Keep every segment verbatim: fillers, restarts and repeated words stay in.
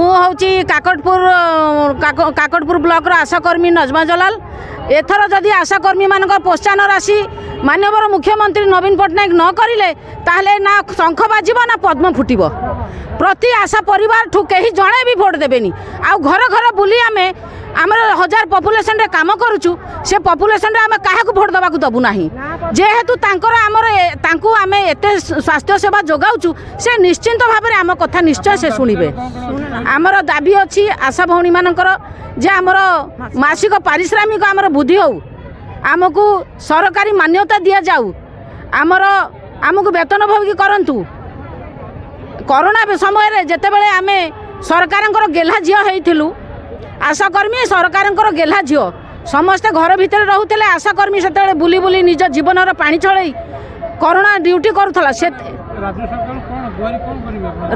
ମୁଁ ହେଉଛି କାକଟପୁର କାକଟପୁର ବ୍ଲକର ଆଶାକର୍ମୀ ନଜମା ଜଲାଲ। ଏଥର ଯଦି ଆଶାକର୍ମୀମାନଙ୍କ ପ୍ରୋତ୍ସାହନ ରାଶି ମାନ୍ୟବର ମୁଖ୍ୟମନ୍ତ୍ରୀ ନବୀନ ପଟ୍ଟନାୟକ ନ କରିଲେ, ତାହେଲେ ନା ଶଙ୍ଖ ବାଜିବ ନା ପଦ୍ମ ଫୁଟିବ। ପ୍ରତି ଆଶା ପରିବାରଠୁ କେହି ଜଣେ ବି ଭୋଟ ଦେବେନି। ଆଉ ଘର ଘର ବୁଲି ଆମେ ଆମର ହଜାର ପପୁଲେସନରେ କାମ କରୁଛୁ, ସେ ପପୁଲେସନରେ ଆମେ କାହାକୁ ଭୋଟ ଦେବାକୁ ଦେବୁ ନାହିଁ। ଯେହେତୁ ତାଙ୍କର ଆମର ତାଙ୍କୁ ଆମେ ଏତେ ସ୍ୱାସ୍ଥ୍ୟ ସେବା ଯୋଗାଉଛୁ, ସେ ନିଶ୍ଚିନ୍ତ ଭାବରେ ଆମ କଥା ନିଶ୍ଚୟ ସେ ଶୁଣିବେ। ଆମର ଦାବି ଅଛି ଆଶା ଭଉଣୀମାନଙ୍କର ଯେ ଆମର ମାସିକ ପାରିଶ୍ରମିକ ଆମର ବୃଦ୍ଧି ହେଉ, ଆମକୁ ସରକାରୀ ମାନ୍ୟତା ଦିଆଯାଉ, ଆମର ଆମକୁ ବେତନ ଭୋଗୀ କରନ୍ତୁ। କରୋନା ସମୟରେ ଯେତେବେଳେ ଆମେ ସରକାରଙ୍କର ଗେହ୍ଲା ଝିଅ ହେଇଥିଲୁ, ଆଶାକର୍ମୀ ସରକାରଙ୍କର ଗେହ୍ଲା ଝିଅ, ସମସ୍ତେ ଘର ଭିତରେ ରହୁଥିଲେ, ଆଶାକର୍ମୀ ସେତେବେଳେ ବୁଲି ବୁଲି ନିଜ ଜୀବନର ପାଣି ଛଳେଇ କରୋନା ଡ୍ୟୁଟି କରୁଥିଲା। ସେ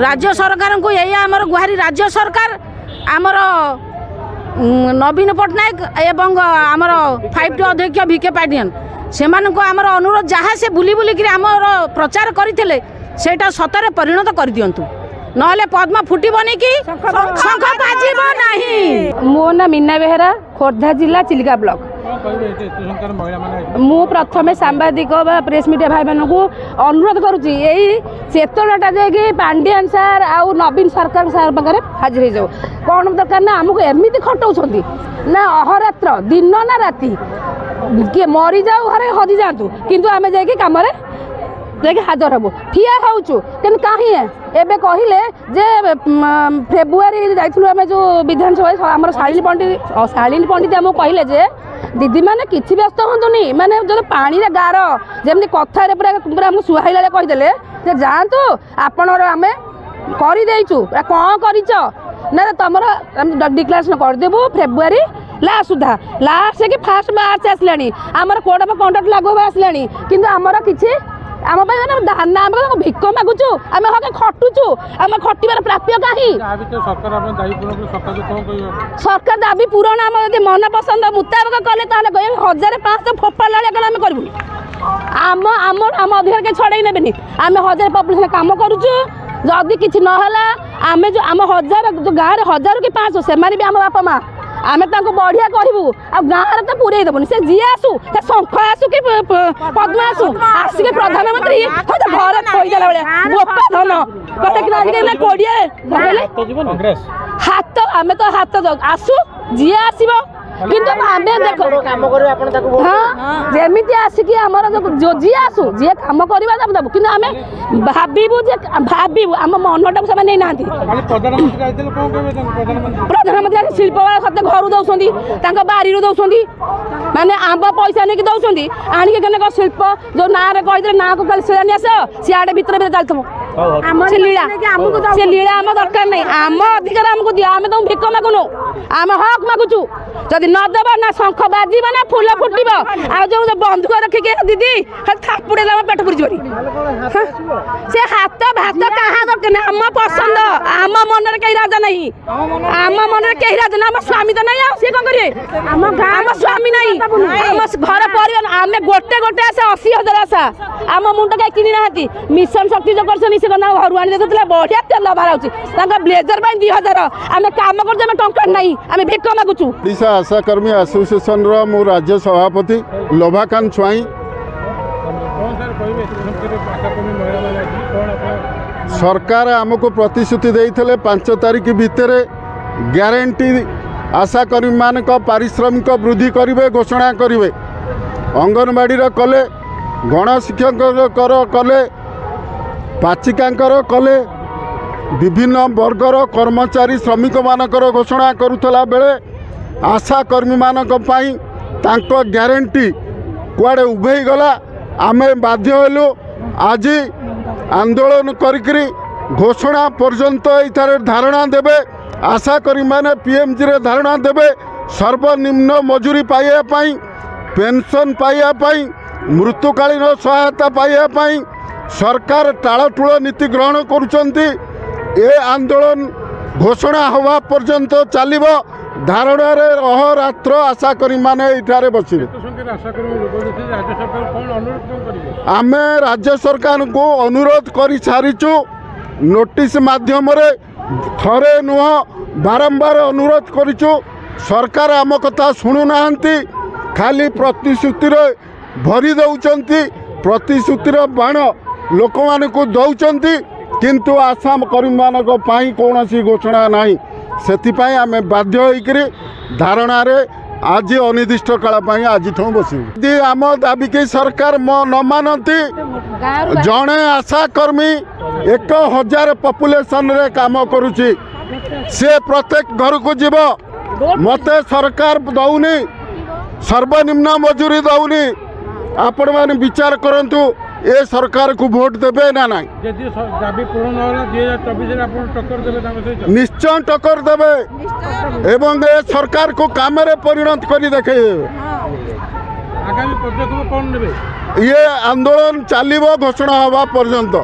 ରାଜ୍ୟ ସରକାରଙ୍କୁ ଏଇଆ ଆମର ଗୁହାରି, ରାଜ୍ୟ ସରକାର ଆମର ନବୀନ ପଟ୍ଟନାୟକ ଏବଂ ଆମର ଫାଇଭ୍ ଟି ଅଧ୍ୟକ୍ଷ ଭି କେ ପାଣ୍ଡିଆନ, ସେମାନଙ୍କୁ ଆମର ଅନୁରୋଧ, ଯାହା ସେ ବୁଲି ବୁଲିକିରି ଆମର ପ୍ରଚାର କରିଥିଲେ ସେଇଟା ସତରେ ପରିଣତ କରିଦିଅନ୍ତୁ, ନହେଲେ ପଦ୍ମ ଫୁଟିବନି କି ଶଙ୍ଖ ବାଜିବ ନାହିଁ। ମୋ ନାଁ ମୀନା ବେହେରା, ଖୋର୍ଦ୍ଧା ଜିଲ୍ଲା ଚିଲିକା ବ୍ଲକ। ମୁଁ ପ୍ରଥମେ ସାମ୍ବାଦିକ ବା ପ୍ରେସ୍ ମିଡ଼ିଆ ଭାଇମାନଙ୍କୁ ଅନୁରୋଧ କରୁଛି, ଏଇ ଚେତନାଟା ଯାଇକି ପାଣ୍ଡିଆନ ସାର୍ ଆଉ ନବୀନ ସରକାର ସାର୍ ପାଖରେ ହାଜିର ହେଇଯାଉ। କ'ଣ ଦରକାର ନା ଆମକୁ ଏମିତି ଖଟଉଛନ୍ତି ନା ଅହରାତ୍ର, ଦିନ ନା ରାତି, କିଏ ମରିଯାଉ ଘରେ ହଜିଯାଆନ୍ତୁ, କିନ୍ତୁ ଆମେ ଯାଇକି କାମରେ ଯାଇକି ହାଜର ହେବୁ, ଠିଆ ହେଉଛୁ। କିନ୍ତୁ କାହିଁ ଏବେ କହିଲେ ଯେ ଫେବୃଆରୀ ଯାଇଥିଲୁ ଆମେ ଯେଉଁ ବିଧାନସଭା, ଆମର ଶାଳିନୀ ପଣ୍ଡିତ ଶାଳିନୀ ପଣ୍ଡିତ ଆମକୁ କହିଲେ ଯେ ଦିଦିମାନେ କିଛି ବ୍ୟସ୍ତ ହୁଅନ୍ତୁନି, ମାନେ ଯଦି ପାଣିରେ ଗାର ଯେମିତି କଥାରେ ପୁରା ପୁରା ଆମକୁ ସୁହାଇଲା ବେଳେ କହିଦେଲେ ଯେ ଯାଆନ୍ତୁ ଆପଣଙ୍କର ଆମେ କରିଦେଇଛୁ। କ'ଣ କରିଛ ନା ତମର ଡିକ୍ଲାରେସନ୍ କରିଦେବୁ ଫେବୃଆରୀ ଲାଷ୍ଟ ସୁଦ୍ଧା। ଲାଷ୍ଟ କି ଫାଷ୍ଟ ମାର୍ଚ୍ଚ ଆସିଲାଣି, ଆମର କୋଡ଼ ଅଫ୍ କଣ୍ଡକ୍ଟ ଲାଗୁ ହେବା ଆସିଲାଣି, କିନ୍ତୁ ଆମର କିଛି ଆମ ପାଇଁ ମାନେ ଦାନା, ଆମେ ତାଙ୍କୁ ଭିକ ମାଗୁଛୁ, ଆମେ ହକେ ଖଟୁଛୁ, ଆମେ ଖଟିବାର ପ୍ରାପ୍ୟ କାହିଁ? ସରକାର ଦାବି ପୂରଣ ଆମ ଯଦି ମନ ପସନ୍ଦ ମୁତାବକ କଲେ ତାହେଲେ କହିବେ ହଜାରେ ପାଞ୍ଚଶହ ଫୋପାଡ଼ିଲା ଭଳିଆ କଲେ ଆମେ କରିବୁନି। ଆମ ଆମ ଆମ ଅଧିକାର କେହି ଛଡ଼େଇ ନେବେନି। ଆମେ ହଜାରେ ପପୁଲେସନ କାମ କରୁଛୁ। ଯଦି କିଛି ନହେଲା, ଆମେ ଯେଉଁ ଆମ ହଜାର ଯେଉଁ ଗାଁରେ ହଜାର କି ପାଞ୍ଚଶହ, ସେମାନେ ବି ଆମ ବାପା ମା, ଆମେ ତାଙ୍କୁ ବଢ଼ିଆ କହିବୁ। ଆଉ ଗାଁରେ ତ ପୁରେଇ ଦେବୁନି। ସେ ଯିଏ ଆସୁ, ସେ ଶଙ୍ଖ ଆସୁ କି ପଦ୍ମ ଆସୁ, ଆସିକି ପ୍ରଧାନମନ୍ତ୍ରୀ ଘରେ ଥୋଇଦେଲା ଭଳିଆ ବୋପା ଧନ କଥା କି କୋଡ଼ିଏ ହାତ, ଆମେ ତ ହାତ ଆସୁ, ଯିଏ ଆସିବ, କିନ୍ତୁ ଆମେ ଦେଖ ହଁ ଯେମିତି ଆସିକି ଆମର ଯିଏ ଆସୁ, ଯିଏ କାମ କରିବା ଆମେ ଦେବୁ, କିନ୍ତୁ ଆମେ ଭାବିବୁ ଯେ ଭାବିବୁ ଆମ ମନଟାକୁ ସେମାନେ ନେଇନାହାନ୍ତି। ପ୍ରଧାନମନ୍ତ୍ରୀ ଶିଳ୍ପ ସତେ ଘରୁ ଦେଉଛନ୍ତି, ତାଙ୍କ ବାରିରୁ ଦେଉଛନ୍ତି, ମାନେ ଆମ୍ବ ପଇସା ନେଇକି ଦେଉଛନ୍ତି ଆଣିକି। କେନେ ଶିଳ୍ପ ଯୋଉ ନାଁରେ କହିଦେଲେ, ନାଁକୁ ଖାଲି ଶିଳାନ୍ୟାସ, ସିଆଡ଼େ ଭିତରେ ଭିତରେ ଚାଲିଥିବ ସେ ଲୀଳା। ସେ ଲୀଳା ଆମ ଦରକାର ନାହିଁ। ଆମ ଅଧିକାର ଆମକୁ ଦିଅ। ଆମେ ତମକୁ ଭିକ ମାଗୁନୁ, ଆମେ ହକ୍ ମାଗୁଛୁ। ଯଦି ନଦେବ ନା ଶଙ୍ଖ ବାଜିବ ନା ଫୁଲ ଫୁଟିବ। ଆଉ ଯୋଉ ବନ୍ଧୁକ ରଖିକି ଦିଦି ଖାଲି ଥାପୁଡ଼େଇଲେ ଆମ ପେଟ ପୁରିଯିବନି। ସେ ହାତ ଭାତ କାହା ଦରକାର ନାହିଁ। ଆମ ପସନ୍ଦ, ଆମ ମନରେ କେହି ରାଜା ନାହିଁ, ଆମ ମନରେ କେହି ରାଜା ନାହିଁ। ଆମ ସ୍ୱାମୀ ତ ନାହିଁ, ଆଉ ସିଏ କ'ଣ କରିବେ? ଆମ ସ୍ୱାମୀ ନାହିଁ, ଆମ ଘର ପରିବାର ଆମେ ଗୋଟେ ଗୋଟେ ଆଶା, ଅଶୀ ହଜାର ଆଶା। ଆମ ମୁଣ୍ଡ କାହିଁ କିଣି ନାହାନ୍ତି? ମିଶନ ଶକ୍ତି ଯୋଉ କରିଛନ୍ତି, ସେ ତାଙ୍କ ଘରୁ ଆଣି ଦେଉଥିଲା, ବଢ଼ିଆ ତେଲ ବାହାରୁଛି ତାଙ୍କ ବ୍ଲେଜର ପାଇଁ ଦୁଇ ହଜାର। ଆମେ କାମ କରୁଛୁ, ଆମେ ଟଙ୍କା ନାହିଁ, ଆମେ ଭିକ ମାଗୁଛୁ। ଓଡ଼ିଶା ଆଶାକର୍ମୀ ଆସୋସିଏସନର ମୁଁ ରାଜ୍ୟ ସଭାପତି ଲୋଭାକାନ୍ତ ସ୍ୱାଇଁ। ସରକାର ଆମକୁ ପ୍ରତିଶ୍ରୁତି ଦେଇଥିଲେ ପାଞ୍ଚ ତାରିଖ ଭିତରେ ଗ୍ୟାରେଣ୍ଟି ଆଶାକର୍ମୀମାନଙ୍କ ପାରିଶ୍ରମିକ ବୃଦ୍ଧି କରିବେ, ଘୋଷଣା କରିବେ। ଅଙ୍ଗନବାଡ଼ିର କଲେ, ଗଣଶିକ୍ଷକଙ୍କର କଲେ, ପାଚିକାଙ୍କର କଲେ, ବିଭିନ୍ନ ବର୍ଗର କର୍ମଚାରୀ ଶ୍ରମିକମାନଙ୍କର ଘୋଷଣା କରୁଥିଲା ବେଳେ ଆଶାକର୍ମୀମାନଙ୍କ ପାଇଁ ତାଙ୍କ ଗ୍ୟାରେଣ୍ଟି କୁଆଡ଼େ ଉଭେଇ ଗଲା। ଆମେ ବାଧ୍ୟ ହେଲୁ ଆଜି ଆନ୍ଦୋଳନ କରିକିରି ଘୋଷଣା ପର୍ଯ୍ୟନ୍ତ ଏଇଠାରେ ଧାରଣା ଦେବେ। ଆଶାକର୍ମୀମାନେ ପିଏମ୍ଜିରେ ଧାରଣା ଦେବେ, ସର୍ବନିମ୍ନ ମଜୁରୀ ପାଇବା ପାଇଁ, ପେନସନ୍ ପାଇବା ପାଇଁ, ମୃତ୍ୟୁକାଳୀନ ସହାୟତା ପାଇବା ପାଇଁ। ସରକାର ଟାଳଟୁଳ ନୀତି ଗ୍ରହଣ କରୁଛନ୍ତି। ଏ ଆନ୍ଦୋଳନ ଘୋଷଣା ହେବା ପର୍ଯ୍ୟନ୍ତ ଚାଲିବ। ଧାରଣାରେ ଅହରାତ୍ର ଆଶାକର୍ମୀମାନେ ଏଇଠାରେ ବସିବେ। ଆମେ ରାଜ୍ୟ ସରକାରଙ୍କୁ ଅନୁରୋଧ କରିସାରିଛୁ ନୋଟିସ୍ ମାଧ୍ୟମରେ। ଥରେ ନୁହଁ, ବାରମ୍ବାର ଅନୁରୋଧ କରିଛୁ। ସରକାର ଆମ କଥା ଶୁଣୁନାହାନ୍ତି, ଖାଲି ପ୍ରତିଶ୍ରୁତିରେ ଭରି ଦେଉଛନ୍ତି, ପ୍ରତିଶ୍ରୁତିର ବାଣ ଲୋକମାନଙ୍କୁ ଦେଉଛନ୍ତି, କିନ୍ତୁ ଆଶା କର୍ମୀମାନଙ୍କ ପାଇଁ କୌଣସି ଘୋଷଣା ନାହିଁ। ସେଥିପାଇଁ ଆମେ ବାଧ୍ୟ ହୋଇକରି ଧାରଣାରେ ଆଜି ଅନିର୍ଦ୍ଦିଷ୍ଟ କାଳ ପାଇଁ ଆଜିଠୁ ବସିବୁ। ଯଦି ଆମ ଦାବିକି ସରକାର ନ ମାନନ୍ତି, ଜଣେ ଆଶାକର୍ମୀ ଏକ ହଜାର ପପୁଲେସନରେ କାମ କରୁଛି, ସେ ପ୍ରତ୍ୟେକ ଘରକୁ ଯିବ। ମୋତେ ସରକାର ଦେଉନି, ସର୍ବନିମ୍ନ ମଜୁରୀ ଦେଉନି। ଆପଣମାନେ ବିଚାର କରନ୍ତୁ, ଏ ସରକାରକୁ ଭୋଟ ଦେବେ ନା ନାହିଁ? ନିଶ୍ଚୟ ଟକ୍କର ଦେବେ ଏବଂ ଏ ସରକାରକୁ କାମରେ ପରିଣତ କରି ଦେଖେଇଦେବେ। ଇଏ ଆନ୍ଦୋଳନ ଚାଲିବ ଘୋଷଣା ହେବା ପର୍ଯ୍ୟନ୍ତ।